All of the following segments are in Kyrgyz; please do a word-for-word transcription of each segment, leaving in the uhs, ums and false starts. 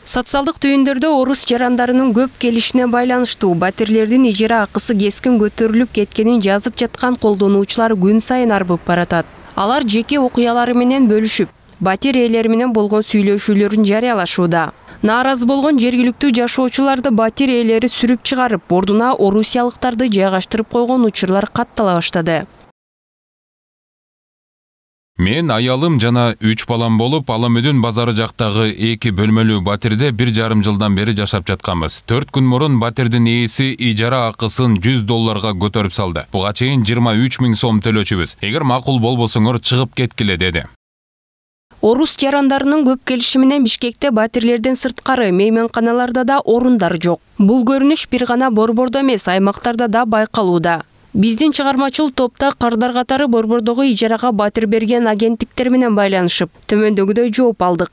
Социалдык түйүндөрдө орус жарандарынын көп келишине байланыштуу батирлердин ижара акысы кескин көтөрүлүп кеткенин жазып жаткан колдонуучулар күн сайын арбып баратат. Алар жеке окуялары менен бөлүшүп, батир ээлери менен болгон сүйлөшүүлөрүн жарыялашууда. Нааразы болгон жергиликтүү жашоочуларды батир ээлери сүрүп чыгарып, ордуна орусиялыктарды жайгаштырып койгон учурлар каттала баштады. Мен аялым жана үч балам болуп, Аламөдүн базары жактагы эки бөлмөлүү батирде бир жарым жылдан бери жашап жатканбыз. төрт күн мурун батирдин ээси ижара акысын жүз долларга көтөрүп салды. Буга чейин жыйырма үч миң сом төлөчүбүз. Эгер макул болбосоңор чыгып кеткиле деди. Орус жарандарынын көп келиши менен Бишкекте батирлерден сырткары мейманканаларда да орундар жок. Бул көрүнүш бир гана Борбордо эмес, аймактарда да байкалууда. Биздин чыгармачыл топта кардар катары Борбордогу ижарага батир берген агенттиктер менен байланышып, төмөндөгүдөй жооп алдык.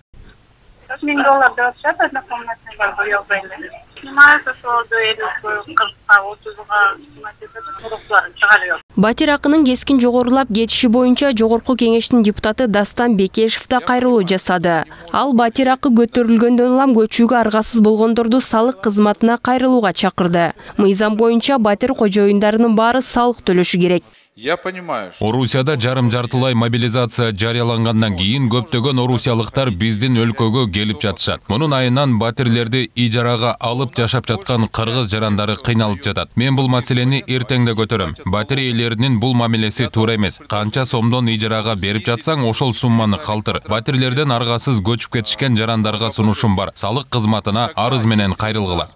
миң доллар деп атышат, однокомнатный бар, бuyок эле. Снимается ошолду элүүгө, кыркка, отузга снимать этет, туруктууларын чыгарып. Батир акынын кескин жогорулап кетиши боюнча Жогорку Кеңештин депутаты Дастан Бекешев да кайрылуу жасады. Ал батир акы көтөрүлгөндөн улам көчүүгө аргасыз болгондорду салык кызматына кайрылууга чакырды. Мыйзам боюнча батир кожоюндарынын баары салык төлөшү керек. Я понимаю. Орусияда жарым-жартылай мобилизация жарыялангандан кийин көптөгөн орусиялыктар биздин өлкөгө келип жатышат. Мунун айынан батирлерди ижарага алып жашап жаткан кыргыз жарандары кыйналып жатат. Мен бул маселени эртең да көтөрөм. Батир ээлеринин бул мамилеси туура эмес. Канча сомдон ижарага берип жатсаң, ошол сумманы калтыр. Батирлерден аргасыз көчүп кетишкен жарандарга сунушум бар. Салык кызматына арыз менен кайрылгыла.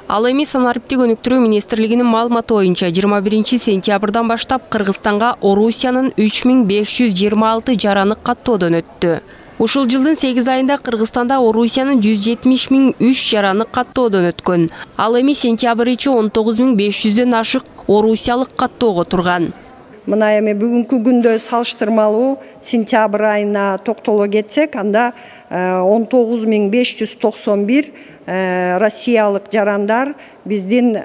Ал эми Санариптик өнүктүрүү министрлигинин маалыматы боюнча жыйырма биринчи сентябрдан баштап Кыргызстанга Орусиянын үч миң беш жүз жыйырма алты жараны каттоодон өттү. Ушул жылдын сегиз айында Кыргызстанда Орусиянын жүз жетимиш миң үч жараны каттоодон өткөн. Ал эми сентябрь ичи он тогуз миң беш жүздөн ашык орусиялык каттоого турган. Мына эми бүгүнкү күндө салыштырмалуу сентябрь айына токтоло кетсек, анда он тогуз миң беш жүз токсон бир россиялык жарандар биздин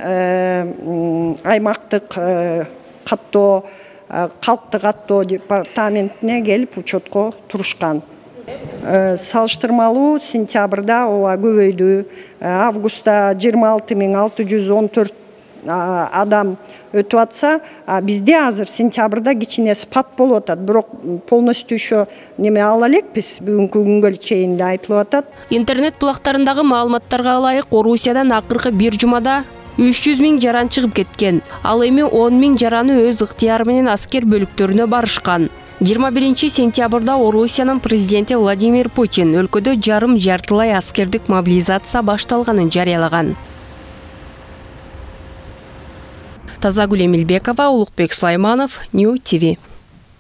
аймактык каттоо, калктык каттоо департаментине келип учетко турушкан. Салыштырмалуу сентябрда ооба көбөйдү. Августта жыйырма алты миң алты жүз он төрт адам өтүп атса, бизде азыр сентябрда кичине спад болуп атат, бирок полностью еще неме ала элекпиз, бүгүнкү күнгө чейин да айтылып атат. Интернет булактарындагы маалыматтарга ылайык, Орусиядан акыркы бир жумада үч жүз миң жаран чыгып кеткен. Ал эми он миң жараны өз ыктыяры менен аскер бөлүктөрүнө барышкан. жыйырма биринчи сентябрда Орусиянын президенти Владимир Путин өлкөдө жарым-жартылай аскердик мобилизация башталганын жарыялаган. Тазагүл Эмилбекова, Улукбек Сулайманов, Нью ти ви.